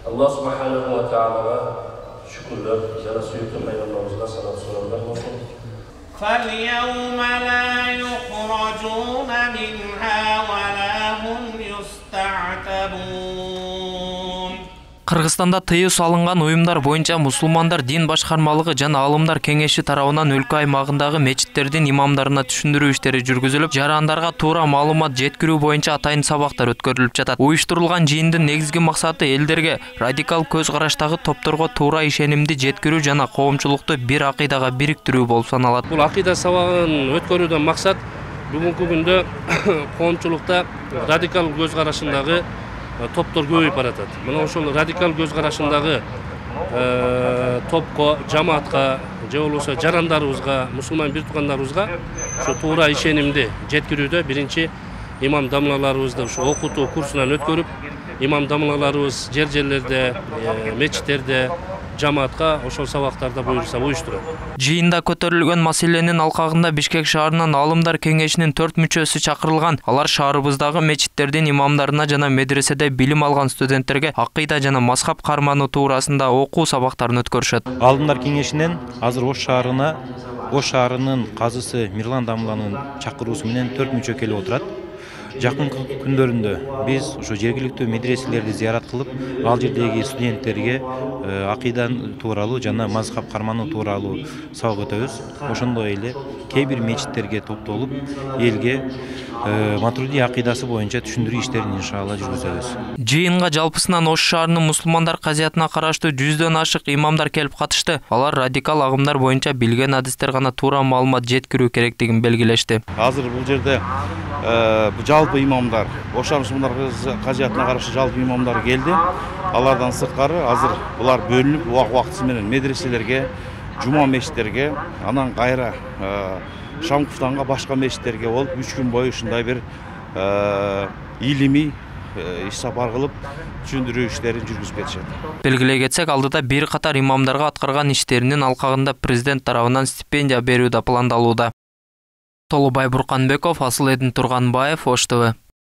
Allah subhanahu wa ta'ala şükürler, jana suyuklu Peygamberimizden salat soranlar olsun. فَالْيَوْمَ لَا يُخْرَجُونَ مِنْهَا وَلَا هُمْ يُسْتَعْتَبُونَ. Кыргызстанда тыюу салынган уюмдар боюнча мусулмандар дин башкармалыгы жана алымдар кеңеши тарабынан өлкө аймагындагы мечиттердин имамдарына түшүндүрүү иштери жүргүзүлүп, жарандарга туура маалымат жеткирүү боюнча атайын сабактар өткөрүлүп жатат. Уюштурулган жыйындын негизги максаты элдерге радикал көз караштагы топторго туура ишенимди жеткирүү жана коомчулукту бир акыйдага бириктирүү болуп саналат. Бул акыйда сабагын өткөрүүдөн максат бүгүнкү күндө коомчулукта радикал көз карашындагы топтор көбөйүп баратат. Мына ошол радикал көз карашындагы топко, жамаатка, же болбосо жарандарыбызга, мусулман бир туугандарыбызга ошо туура ишенимди жеткирүүдө биринчи имам дамлаларыбызды ошо окутуу курсунан өткөрүп, имам дамлаларыбыз жерлерде, мечиттерде, жамаатка ошол сабактарды буюрса уюштурат. Жыйында көтөрүлгөн маселенин алкагында Бишкек шаарынын алымдар кеңешинин 4 мүчөсү чакырылган. Алар шаарыбыздагы мечиттердин имамдарына жана медреседе билим алган студенттерге акыйда жана мазхаб кармануу туурасында окуу сабактарын өткөрүшөт. Алымдар кеңешинен азыр Ош шаарынын казысы Мирлан Дамланын чакыруусу менен 4 мүчө келип отурат. Жакынкы күндөрүндө биз ошо жергиликтүү медреселерди зыярат кылып, ал жердеги студенттерге акыйдан тууралуу жана мазхаб кармануу тууралуу сабак өтөбүз. Ошондой эле кээ бир мечиттерге топтолуп, элге Матруди акыйдасы боюнча түшүндүрүү иштерин иншалла жүргүзөбүз. Жыйынга жалпысынан Ош шаарынын мусулмандар казиятына караштуу 100дөн ашык имамдар келип катышты. Алар радикал агымдар боюнча билген адистер гана туура маалымат жеткирүү керектигин белгилешти. Азыр бул жерде жалпы имамдар, Ош мусулмандар казиятына карашы жалпы имамдар келди. Алардан сырткары азыр булар бөлүнүп убакыты менен медреселерге, жума мечиттерге, анан кайра Шамковтанга башка мечиттерге болуп 3 күн бою ушундай бир илимий иш сапар кылып түшүндүрүү иштерин жүргүзүп кетишет. Белгилей кетсек, алдыда бир катар имамдарга аткарган иштеринин алкагында президент тарабынан стипендия берүү да пландалууда. Толубай Бурканбеков, Асылэдин Турганбаев, Ош ТВ.